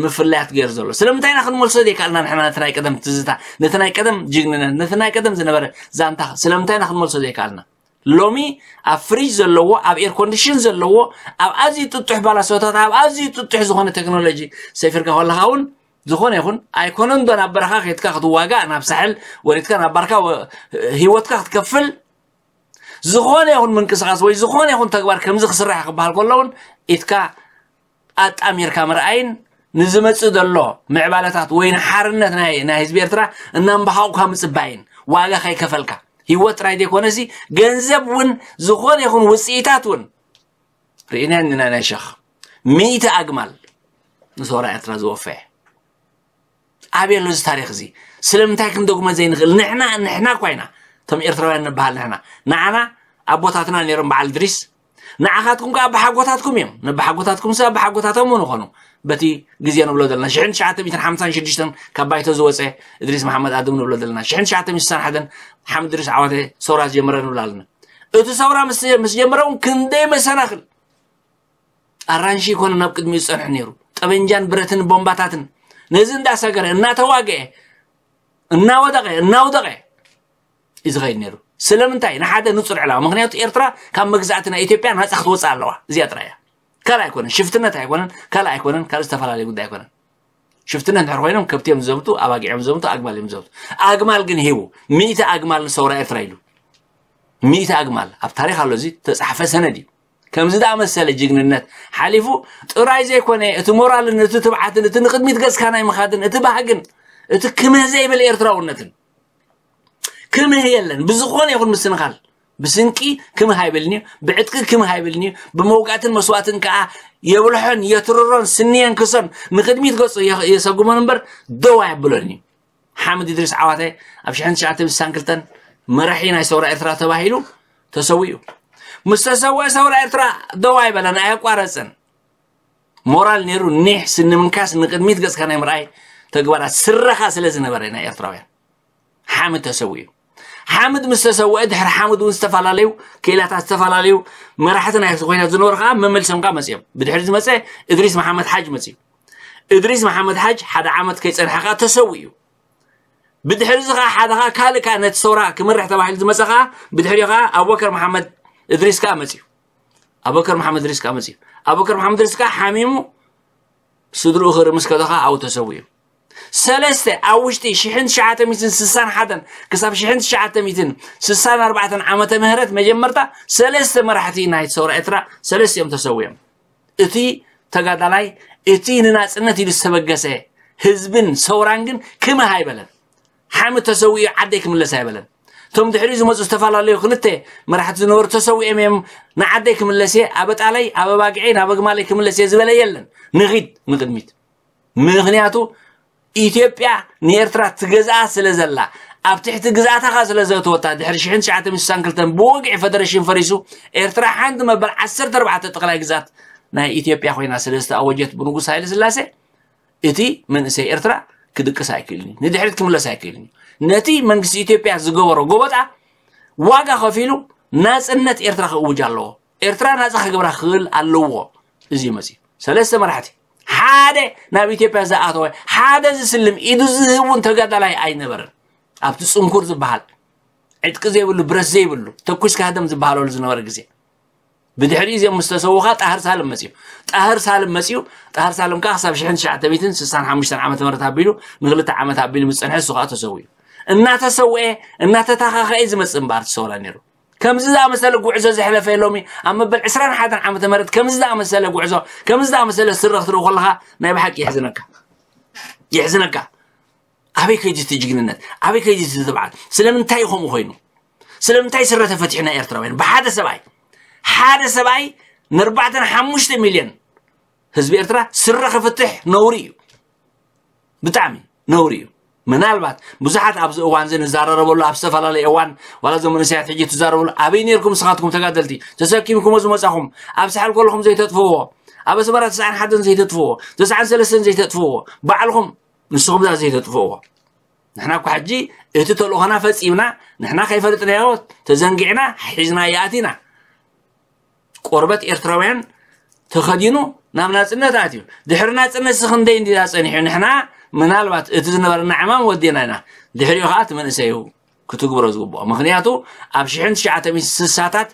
ምፍላያት ገይሩ ዘሎ? ስለምንታይ ኢና ክንመልሶ ዘይከኣልና ንሕና ነቲ ናይ ቀደም ትዝታ፣ ነቲ ናይ ቀደም ጅግንነት፣ ነቲ ናይ ቀደም ዝነበረ ዛንታ ስለምንታይ ኢና ክንመልሶ ዘይከኣልና? ሎሚ ኣብ ፍሪጅ ዘለዎ፣ ኣብ ኤር ኮንዲሽን ዘለዎ፣ ኣብ ኣዝዩ ጥጡሕ ባላሶታት፣ ኣብ ኣዝዩ ጥጡሕ ዝኾነ ቴክኖሎጂ ሰፊርካ ከለኻ እውን ዝኾነ ይኹን ኣይኮነን ዶ ናብ በረኻ ከይድካ ክትዋጋእ፣ ናብ ሳሕል ወሪድካ ናብ ባርካ ወ- ህይወትካ ክትከፍል? ዝኾነ ይኹን ምንቅስቃስ ወይ ዝኾነ ይኹን ተግባር ከምዚ ክስራሕ ክበሃል ከሎ እውን ኢድካ ኣጣሚርካ ምርኣይን ንዝመጽእ ዘሎ ምዕባለታት ወይ ንሓርነት ናይ ናይ ህዝቢ ኤርትራ እናንባሃቑካ ምጽባይን ዋጋ ከይከፈልካ ህይወት ጥራይ ዘይኮነሲ ገንዘብ እውን ዝኾነ ይኹን ውፅኢታት እውን ርኢና ኢና ናይ ሸኽ ሚእቲ ኣግማል ንሰውራ ኤርትራ ዝወፈየ ኣበይ ኣሎ እዚ ታሪክ እዚ? ስለምንታይ ክንደግሞ ዘይንኽእል? ንሕና ንሕና እኳ ኢና እቶም ኤርትራውያን ንበሃል ንሕና ንዓና ኣቦታትና ነይሮም በዓል ድሪስ ንዓኻትኩም ከዓ ኣባሓጎታትኩም እዮም። ነባሓጎታትኩም ሰብ ኣባሓጎታቶም እውን ይኾኑ። በቲ ግዜ ንብሎ ዘለና ሽሕን ትሽዓተ ሚእትን ሓምሳን ሽዱሽተን ካብ ባይቶ ዝወፀ እድሪስ መሓመድ ኣድም ንብሎ ዘለና ሽሕን ትሽዓተ ሚእትን ስሳን ሓደን ሓምድ እድሪስ ዓዋተ ሰውራ ዝጀመረ ንብሎ ኣለና። እቲ ሰውራ ምስ ምስ ጀመረ እውን ክንደይ መሰናኽል ኣራንሺ ይኮነ ናብ ቅድሚኡ ዝፀንሕ ነይሩ። ጠበንጃን ብረትን ቦምባታትን ነዚ እንዳሰገረ እናተዋገአ እናወደቐ እናውደቐ እዩ ዝኸይድ ነይሩ። ስለምንታይ? ንሓደ ንፁር ዕላማ። ምክንያቱ ኤርትራ ካብ መግዛእቲ ናይ ኢትዮጵያ ናፃ ክትወፅእ ኣለዋ። እዚኣ ጥራይ እያ። ካልእ ኣይኮነን። ሽፍትነት ኣይኮነን። ካልእ ኣይኮነን። ካልእ ዝተፈላለየ ጉዳይ ኣይኮነን። ሽፍትነት እንድሕር ኮይኖም ከብቲ እዮም ዝዘብጡ፣ ኣባጊዕ እዮም ዝዘብጡ፣ ኣግማል እዮም ዝዘብጡ። ኣግማል ግን ሂቡ። ሚእቲ ኣግማል ንሰውራ ኤርትራ ኢሉ። ሚእቲ ኣግማል ኣብ ታሪክ ኣሎ። እዚ ተፃሕፈ ሰነድ እዩ። ከምዚ ዝኣመሰለ ጅግንነት ሓሊፉ ጥራይ ዘይኮነ እቲ ሞራልን እቲ ትብዓትን እቲ ንቅድሚት ገፅካ ናይ ምኻድን እቲ ባህግን እቲ ክምህ ዘይብል ኤርትራውነትን ክምህ የለን። ብዝኾነ ይኹን ምስንኻል ብስንቂ ክምህ ኣይብልን እዩ፣ ብዕጥቂ ክምህ ኣይብልን እዩ። ብመውጋእትን መስዋእትን ከዓ የብልሖን የትርሮን ስንየን ክሶን ንቅድሚት ገፁ የሰጉሞን እምበር ደው ኣየብሎን እዩ። ሓምድ እድሪስ ዓዋተ ኣብ ሽሕን ትሽዓተ ሚእትን ስሳን ክልተን መራሒ ናይ ሰውራ ኤርትራ ተባሂሉ ተሰዊኡ። ምስ ተሰወአ ሰውራ ኤርትራ ደው ኣይበለን፣ ኣየቋረፅን። ሞራል ነይሩ ኒሕ ስኒ ምንካስ ንቅድሚት ገፅካ ናይ ምርኣይ ተግባራት ስረኻ ስለ ዝነበረ ናይ ኤርትራውያን ሓምድ ተሰዊኡ። ሓምድ ምስ ተሰወአ ድሕሪ ሓምድ እውን ዝተፈላለዩ ክኢላታት ዝተፈላለዩ መራሕቲ ናይ ኮይና ዝነበሩ ከዓ መመልሶም ከዓ መፅኦም። ብድሕሪ ዝመፀ እድሪስ መሓመድ ሓጅ መፅኡ። እድሪስ መሓመድ ሓጅ ሓደ ዓመት ከይፀንሐ ከዓ ተሰዊኡ። ብድሕሪ እዚ ከዓ ሓደ ከዓ ካልእ ከዓ ነቲ ሰውራ ክመርሕ ተባሂሉ ዝመፀ ከዓ ብድሕሪኡ ከዓ ኣቡበከር መሓመድ እድሪስ ከዓ መፅኡ። ኣቡበከር መሓመድ እድሪስ ከዓ መፅኡ። ኣቡበከር መሓመድ እድሪስ ከዓ ሓሚሙ ስድርኡ ክርኢ ምስ ከዶ ከዓ ኣብኡ ተሰዊኡ። ሰለስተ ኣብ ውሽጢ ሽሕን ትሽዓተ ሚእትን ስሳን ሓደን ክሳብ ሽሕን ትሽዓተ ሚእትን ስሳን ኣርባዕተን ዓመተ ምህረት መጀመርታ ሰለስተ መራሕቲ ናይ ሰውራ ኤርትራ ሰለስቲኦም ተሰዊኦም። እቲ ተጋዳላይ እቲ ንናጽነት ኢሉ ዝተበገሰ ህዝብን ሰውራን ግን ክምህ ኣይበለን። ሓምድ ተሰዊኡ ዓደይ ክምለስ ኣይበለን። እቶም ድሕሪኡ ዝመፁ ዝተፈላለዩ ክልተ መራሕቲ ዝነበሩ ተሰዊኦም እዮም። ንዓደይ ክምለስ እየ፣ ኣብ ኣጣለይ ኣብ ኣባጊዐይ ናብ ኣግማለይ ክምለስ እየ ዝበለ የለን። ንኺድ ንቅድሚት። ምክንያቱ ኢትዮጵያ ንኤርትራ ትገዝኣ ስለ ዘላ ኣብ ትሕቲ ግዝኣታ ከዓ ስለ ዘእተወታ ድሕሪ ሽሕን ትሽዓተ ሚእትን ስሳን ክልተን ብወግዒ ፈደረሽን ፈሪሱ ኤርትራ ሓንቲ መበል ዓሰርተ ኣርባዕተ ጠቕላይ ግዝኣት ናይ ኢትዮጵያ ኮይና ስለ ዝተኣወጀት ብንጉስ ሃይለ ስላሴ እቲ መንእሰይ ኤርትራ ክድቅስ ኣይክእልን እዩ። ንድሕሪት ክምለስ ኣይክእልን እዩ። ነቲ መንግስቲ ኢትዮጵያ ዝገበሮ ጎበጣ ዋጋ ከፊሉ ናጽነት ኤርትራ ክእውጅ ኣለዎ። ኤርትራ ናጻ ክገብራ ክኽእል ኣለዎ። እዚ እዩ መጺኡ። ሰለስተ መራሕቲ ሓደ ናብ ኢትዮጵያ ዝኣተወ ሓደ ዝስልም ኢዱ ዝህብ እውን ተጋዳላይ ኣይነበረን። ኣብቲ ጽንኩር ዝበሃል ዕጥቂ ዘይብሉ ብረት ዘይብሉ ተኩስካ ህደም ዝበሃለሉ ዝነበረ ግዜ ብድሕሪ እዚኦም ምስ ተሰውኻ ጣህር ሳልም መፅዩ። ጣህር ሳልም መፅዩ። ጣህር ሳልም ከዓ ክሳብ ሽሕን ትሽዓተ ሚእትን ስሳን ሓሙሽተን ዓመተ ምህረት ኣቢሉ ንክልተ ዓመት ኣቢሉ ምስ ፀንሐ እሱ ከዓ ተሰዊኡ። እናተሰውአ እናተታኻኸአ ዝመፅእ እምበኣር ትሰውራ ነይሩ። ከምዚ ዝኣመሰለ ጉዕዞ ዘሕለፈ ሎሚ ኣብ መበል ዕስራን ሓደን ዓመተ ምህረት ከምዚ ዝኣመሰለ ጉዕዞ ከምዚ ዝኣመሰለ ስረ ክትርኢ ከለኻ ናይ ብሓቂ የሕዝነካ። የሕዝነካ። ኣበይ ከይዲ እቲ ጅግንነት? ኣበይ ከይዲ እቲ ትብዓት? ስለምንታይ እዩ ከምኡ ኮይኑ? ስለምንታይ ስረ ተፈቲሑ ናይ ኤርትራውያን ብሓደ ሰብኣይ ሓደ ሰብኣይ ንኣርባዕተን ሓሙሽተ ሚልዮን ህዝቢ ኤርትራ ስረ ክፍትሕ ነውሪ እዩ። ብጣዕሚ ነውሪ እዩ። ምናልባት ብዙሓት ኣብዚ እዋን እዚ ንዛረረበሉ ኣብ ዝተፈላለየ እዋን ዋላ እዞም መንእሰያት ሕጂ ትዛረብሉ ኣበይ ነርኩም ንስኻትኩም ተጋደልቲ ተሰኪምኩሞ ዝመጻኹም ኣብ ሳሕል ከለኹም ዘይተጥፍዎ ኣብ ኣስመራ ተስዓን ሓደን ዘይተጥፍዎ ተስዓን ሰለስተን ዘይተጥፍዎ ባዕልኹም ንስኹም ዛ ዘይተጥፍዎ ንሕና እኳ ሕጂ እቲ ተልእኾና ፈጺምና ንሕና ከይፈለጥናዮ ተዘንጊዕና ሒዝና ይኣቲና ቆርበት ኤርትራውያን ተኸዲኑ ናብ ናጽነት ኣትዩ ድሕሪ ናጽነት ስኽንደይ እንዲና ጸኒሑ ንሕና ምናልባት እቲ ዝነበረና ዕማም ወዲና ኢና ድሕሪኡ ከዓ እቲ መንእሰይ እዩ ክትግብሮ ዝግብኦ ምክንያቱ ኣብ ሽሕን ትሽዓተ ሚእትን ስሳታት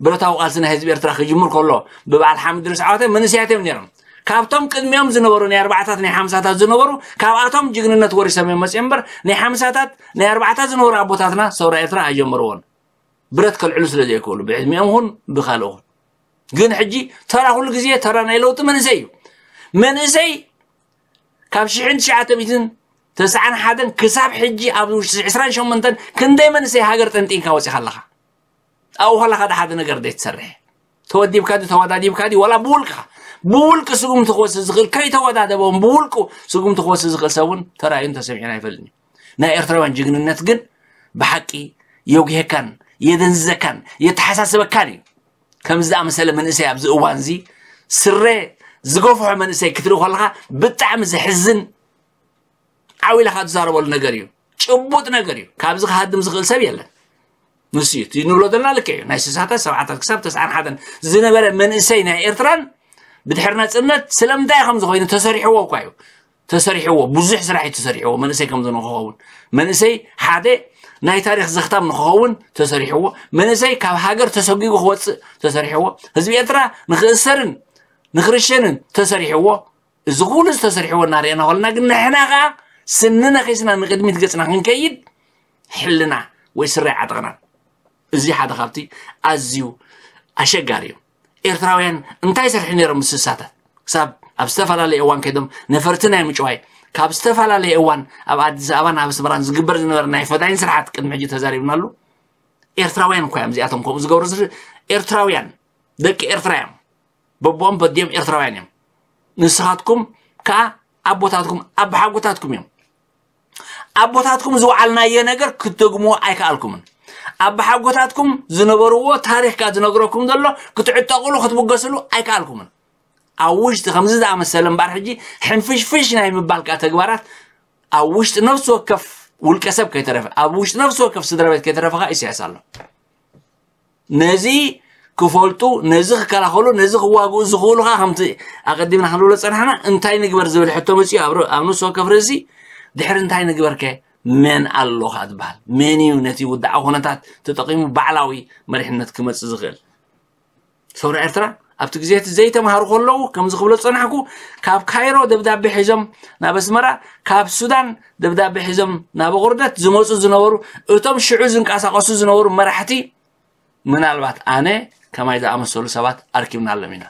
ብረታዊ ቃልሲ ናይ ህዝቢ ኤርትራ ክጅምር ከሎ ብበዓል ሓምድ ድርስ ዓወተ መንእሰያት እዮም ነይሮም ካብቶም ቅድሚኦም ዝነበሩ ናይ ኣርባዕታት ናይ ሓምሳታት ዝነበሩ ካብኣቶም ጅግንነት ወሪሶም እዮም መፅኦም እምበር ናይ ሓምሳታት ናይ ኣርባዕታት ዝነበሩ ኣቦታትና ሰውራ ኤርትራ ኣይጀመርዎን ብረት ከልዕሉ ስለ ዘይክእሉ ብዕድሚኦም ኹን ብካልእ ኹን ግን ሕጂ ተራ ኩሉ ግዜ ተራ ናይ ለውጢ መንእሰይ እዩ መንእሰይ ካብ ሽሕን ትሽዓተ ሚእትን ተስዓን ሓደን ክሳብ ሕጂ ኣብ ውሽጢ ዕስራን ሸሞንተን ክንደይ መንእሰይ ሃገር ጠንጢንካ ወፂኻ ኣለኻ ኣብኡ ከለኻ ሓደ ነገር ደይ ትሰርሕ ተወዲብካ ዲ ተወዳዲብካ ዲ ወላ ብውልቅኻ ብውልቂ ስጉምቲ ክወስድ ዝኽእል ከይተወዳደበውን ብውልቁ ስጉምቲ ክወስድ ዝኽእል ሰብ እውን ተራእዩን ተሰሚዑን ኣይፈልጥን እዩ ናይ ኤርትራውያን ጅግንነት ግን ብሓቂ የጉሄካን የደንዝዘካን የተሓሳስበካን እዩ ከምዚ ዝኣመሰለ መንእሰይ ኣብዚ እዋን እዚ ስረ ዝገፍሖ መንእሰይ ክትርኢ ከለኻ ብጣዕሚ ዘሕዝን ዓው ኢልካ ትዛረበሉ ነገር እዩ ጭቡጥ ነገር እዩ ካብዚ ክሃድም ዝኽእል ሰብ የለን ንሱ እዩ እቲ ንብሎ ዘለና ልክዕ እዩ ናይ ስሳታት ሰብዓታት ክሳብ ተስዓን ሓደን ዝነበረ መንእሰይ ናይ ኤርትራን ብድሕሪ ናጽነት ስለምንታይ ከም ዝኾይኑ ተሰሪሕዎ እኳ እዩ ተሰሪሕዎ ብዙሕ ስራሕ እዩ ተሰሪሕዎ መንእሰይ ከም ንክኸውን መንእሰይ ሓደ ናይ ታሪክ ዘኽታም ንክኸውን ተሰሪሕዎ መንእሰይ ካብ ሃገር ተሰጒጉ ክወፅእ ተሰሪሕዎ ህዝቢ ኤርትራ ንክእሰርን ንክርሸንን ተሰሪሕዎ እዚ ኩሉ ዝተሰርሕዎ እናርአና ከለና ግን ንሕና ከዓ ስኒ ነኺስና ንቅድሚት ገፅና ክንከይድ ሕልና ወይ ስረ ይዓጠቕና እዚ ሓደ ካብቲ ኣዝዩ ኣሸጋሪ እዩ ኤርትራውያን እንታይ ይሰርሑ ነይሮም ምስሳታት ክሳብ ኣብ ዝተፈላለየ እዋን ከይዶም ነፈርቲ ናይ ምጭዋይ ካብ ዝተፈላለየ እዋን ኣብ ኣዲስ ኣበባን ኣብ ኣስመራን ዝግበር ዝነበረ ናይ ፈዳይን ስርሓት ቅድሚ ሕጂ ተዛሪብናሉ ኤርትራውያን እኳ እዮም እዚኣቶም ከምኡ ዝገብሩ ኤርትራውያን ደቂ ኤርትራ እዮም በቦኦም በዲኦም ኤርትራውያን እዮም ንስኻትኩም ከዓ ኣቦታትኩም ኣባሓጎታትኩም እዮም ኣቦታትኩም ዝወዓልናዮ ነገር ክትደግምዎ ኣይከኣልኩምን ኣባሓጎታትኩም ዝነበርዎ ታሪክ ካ ዝነግረኩም ዘሎ ክትዕጠቕሉ ክትብገስሉ ኣይከኣልኩምን ኣብ ውሽጢ ከምዚ ዝኣመሰለ እምበኣር ሕጂ ሕንፍሽፍሽ ናይ ምባል ካ ተግባራት ኣብ ውሽጢ ነፍሲ ወከፍ ውልቀ ሰብ ከይተረፈ ኣብ ውሽጢ ነፍሲ ወከፍ ስድራ ቤት ከይተረፈ ካ ኢሳያስ ኣሎ ነዚ ክፈልጡ ነዚ ክከላኸሉ ነዚ ክዋግኡ ዝኽእሉ ኸዓ ከምቲ ኣቐዲምና ክንብሎ ዝፀናሕና እንታይ ንግበር ዝብል ሕቶ መፂኡ ኣብ ር- ኣብ ንሱ ወከፍ ርእሲ ድሕሪ እንታይ ንግበርከ መን ኣሎ ኸዓ ዝበሃል መን እዩ ነቲ ውድዓዊ ኩነታት ተጠቒሙ ባዕላዊ መሪሕነት ክመፅእ ዝኽእል ሰውራ ኤርትራ ኣብቲ ግዜ እቲ ዘይተምሃሩ ከለዉ ከምዚ ክብሎ ዝፀናሕኩ ካብ ካይሮ ደብዳቤ ሒዞም ናብ ኣስመራ ካብ ሱዳን ደብዳቤ ሒዞም ናብ ኣቑርደት ዝመፁ ዝነበሩ እቶም ሽዑ ዝንቀሳቐሱ ዝነበሩ መራሕቲ ምናልባት ኣነ ከማይ ዝኣመሰሉ ሰባት ኣርኪብናሎም ኢና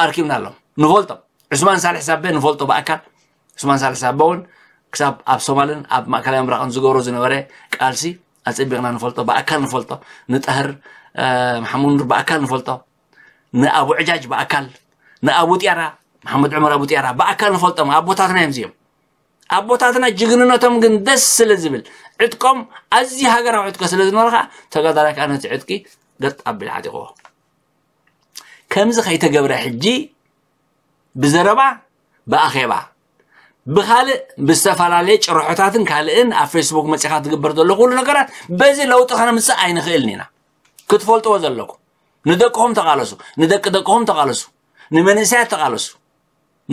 ኣርኪብናሎም ንፈልጦም ዑስማን ሳልሕ ሳበ ንፈልጦ ብኣካል ዑስማን ሳልሕ ሳበ እውን ክሳብ ኣብ ሶማልን ኣብ ማእከላይ ምብራቕን ዝገብሮ ዝነበረ ቃልሲ ኣጸቢቕና ንፈልጦ ብኣካል ንፈልጦ ንጣህር መሓሙድ ኑር ብኣካል ንፈልጦ ንኣቡ ዕጃጅ ብኣካል ንኣቡ ጥያራ መሓመድ ዑመር ኣቡ ጥያራ ብኣካል ንፈልጦም ኣቦታትና እዮም እዚኦም ኣቦታትና ጅግንነቶም ግን ደስ ስለ ዝብል ዕጥቆም ኣዝዩ ሃገራዊ ዕጥቆ ስለ ዝነበረ ከዓ ተጋዳላይ ከዓ ነቲ ዕጥቂ ገጥ ኣቢሉ ዓጢቕዎ ከምዚ ከይተገብረ ሕጂ ብዘረባ ብኣኼባ ብኻልእ ብዝተፈላለየ ጭርሖታትን ካልእን ኣብ ፌስቡክ መፂኻ ትግበር ዘሎ ኩሉ ነገራት በዚ ለውጢ ከነምፅእ ኣይንኽእልን ኢና ክትፈልጥዎ ዘለኩም ንደቅኹም ተቓለሱ ንደቂ ደቅኹም ተቓለሱ ንመንእሰያት ተቓለሱ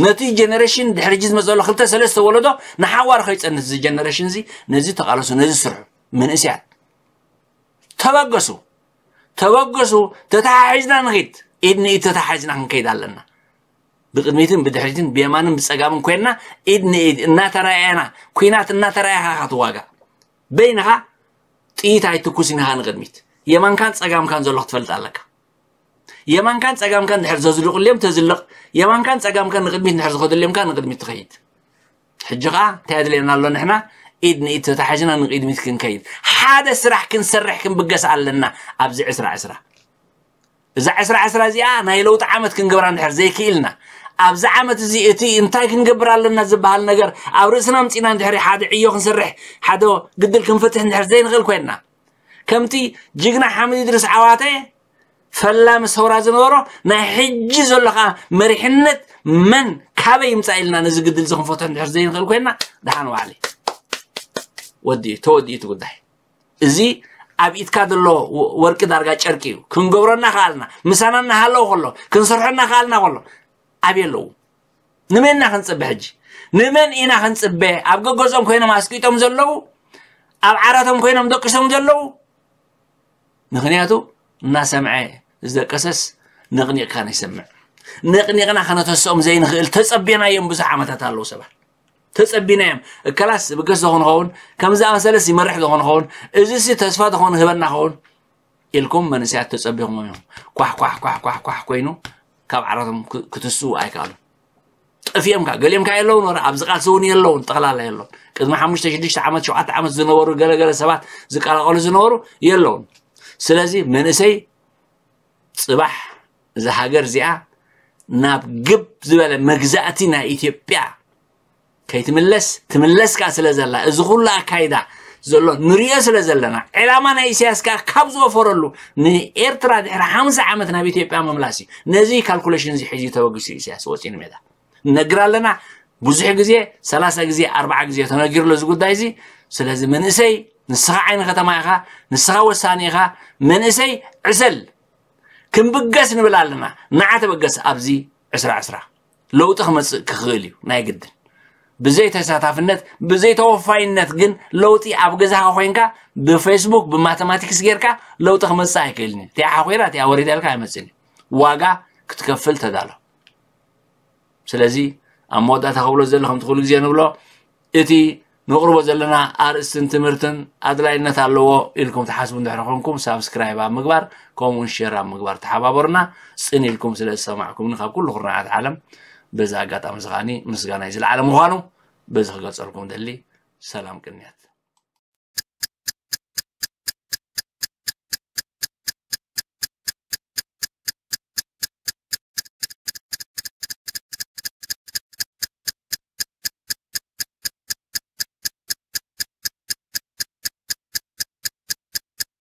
ነቲ ጀነሬሽን ድሕሪ ሕጂ ዝመፅእ ዘሎ ክልተ ሰለስተ ወለዶ ንሓዋር ከይፀንት እዚ ጀነሬሽን እዚ ነዚ ተቓለሱ ነዚ ስርሑ መንእስያት ተበገሱ ተበገሱ ተተሓሒዝና ንኺድ ኢድ ንኢድ ተተሓሒዝና ክንከይድ ኣለና ብቅድሚትን ብድሕሪትን ብየማንን ብፀጋምን ኮይንና ኢድ ንኢድ እናተረኣየና ኩናት እናተረኣየኻ ኢኻ ትዋጋእ በይንኻ ጥይት ኣይትኩስን ኢኻ ንቅድሚት የማንካን ፀጋምካን ዘሎ ክትፈልጥ ኣለካ የማንካን ፀጋምካን ድሕር ዘዝልቑልዮም ተዝልቕ የማንካን ፀጋምካን ንቅድሚት ድሕር ዝኸደልዮምካ ንቅድሚት ትኸይድ ሕጂ ኸዓ እንታይ ኣድልየና ኣሎ ንሕና ኢድ ንኢድ ተታሒዝና ንቅድሚት ክንከይድ ሓደ ስራሕ ክንሰርሕ ክንብገስ ኣለና ኣብዚ ዕስራ ዕስራ እዛ ዕስራ ዕስራ እዚኣ ናይ ለውጢ ዓመት ክንገብራ እንድሕር ዘይክኢልና ኣብዚ ዓመት እዚ እቲ እንታይ ክንገብር ኣለና ዝበሃል ነገር ኣብ ርእስና ኣምጺእና እንድሕሪ ሓደ ዕዮ ክንሰርሕ፣ ሓደ ግድል ክንፈትሕ እንድሕር ዘይንኽእል ኮይንና፣ ከምቲ ጅግና ሓምድ ኢድሪስ ዓዋተ ፈላሚ ሰውራ ዝነበሮ፣ ናይ ሕጂ ዘሎ ኸዓ መሪሕነት መን ካበይ ይምጻእ ኢልና ነዚ ግድል እዚ ክንፈትሖ እንድሕር ዘይንኽእል ኮይንና፣ ደሓን ዋዕሊ ወዲ ተወዲኡ እቲ ጉዳይ። እዚ ኣብ ኢድካ ዘሎ ወ- ወርቂ ዳርጋ ጨርቂ እዩ። ክንገብሮ እናኸኣልና፣ ምሳና እናሃለወ ከሎ፣ ክንሰርሖ እናኸኣልና ከሎ፣ ዓብ የለዉ። ንመን ኢና ክንጽበ ሕጂ? ንመን ኢና ክንጽበ? ኣብ ገገዝኦም ኮይኖም ኣስቂጦም ዘለዉ፣ ኣብ ዓራቶም ኮይኖም ደቂሶም ዘለዉ። ምኽንያቱ እናሰምዐ ዝደቀሰስ ነቕኒቕካ ንይሰምዕ። ነቕኒቕና ከነተስኦም ዘይንኽእል ተጸቢናዮም ብዙሕ ዓመታት ኣለዉ ሰባት። ተጸቢናዮም። እከላስ ብገስ ዝኾን ኸውን፣ ከምዚ ኣመሰለስ ይመርሕ ዝኾን ኸውን፣ እዚሲ ተስፋ ዝኾን ህበና ኸውን ኢልኩም መንእሰያት ተጸቢኹም እዮም። ኳሕ ኳሕ ኳሕ ኳሕ ኳሕ ኮይኑ ካብ ዓራቶም ክ- ክትስኡ ኣይከኣሉን። ጠፊኦም ከ ገሊኦም ከ የለውን፣ ወረ ኣብዚ ቃልሲ እውን የለውን፣ ጠቕላላ የለውን። ቅድሚ ሓሙሽተ ሽዱሽተ ዓመት ሸውዓተ ዓመት ዝነበሩ ገለገለ ሰባት ዝቀላቐሉ ዝነበሩ የለውን። ስለዚ መንእሰይ ጽባሕ እዛ ሃገር እዚኣ ናብ ግብ ዝበለ መግዛእቲ ናይ ኢትዮጵያ ከይትምለስ ትምለስ ከኣ ስለ ዘላ፣ እዚ ኩሉ ኣካይዳ ዘሎ ንሪኦ ስለ ዘለና፣ ዕላማ ናይ ኢሳያስ ከኣ ካብ ዝወፈረሉ ንኤርትራ ድሕሪ ሓምሳ ዓመት ናብ ኢትዮጵያ ምምላስ እዩ። ነዚ ካልኩሌሽን እዚ ሒዙ ተበጊሱ ኢሳያስ ወፂኡ ንሜዳ። ንነግር ኣለና ብዙሕ ግዜ፣ ሰላሳ ግዜ፣ ኣርባዓ ግዜ ተነጊሩ ኣሎ እዚ ጉዳይ እዚ። ስለዚ መንእሰይ ንስኻ ዓይኒ ከተማ ኢኻ፣ ንስኻ ወሳኒ ኢኻ። መንእሰይ ዕሰል ክንብገስ ንብል ኣለና። ንዓ ተበገስ ኣብዚ ዕስራ ዕስራ ለውጢ ክመፅእ ክኽእል እዩ ናይ ግድን። ብዘይ ተሳታፍነት ብዘይ ተወፋይነት ግን ለውጢ ኣብ ገዛኻ ኮይንካ ብፌስቡክ ብማተማቲክስ ጌርካ ለውጢ ክመፅእ ኣይክእልን እዩ። እቲኣ ሓኮይራ እቲኣ ወሪዳ ኢልካ ኣይመፅን እዩ። ዋጋ ክትከፍል ተዳሎ። ስለዚ ኣብ መወዳእታ ክብሎ ዘሎ ከምቲ ኩሉ ግዜ ንብሎ እቲ ነቕርቦ ዘለና ኣርእስትን ትምህርትን ኣድላይነት ኣለዎ ኢልኩም ትሓስቡ እንድሕር ኮንኩም ሳብስክራይብ ኣብ ምግባር ከምኡውን ሼር ኣብ ምግባር ተሓባበሩና። ጽን ኢልኩም ስለ ዝሰማዕኩምኒ ካብ ኩሉ ኩርናዓት ዓለም በዚ ኣጋጣሚ እዚ ከዓኒ ምስጋናይ ዝለዓለ ምዃኑ በዚ ክገልጸልኩም ደሊ። ሰላም ቅንያት።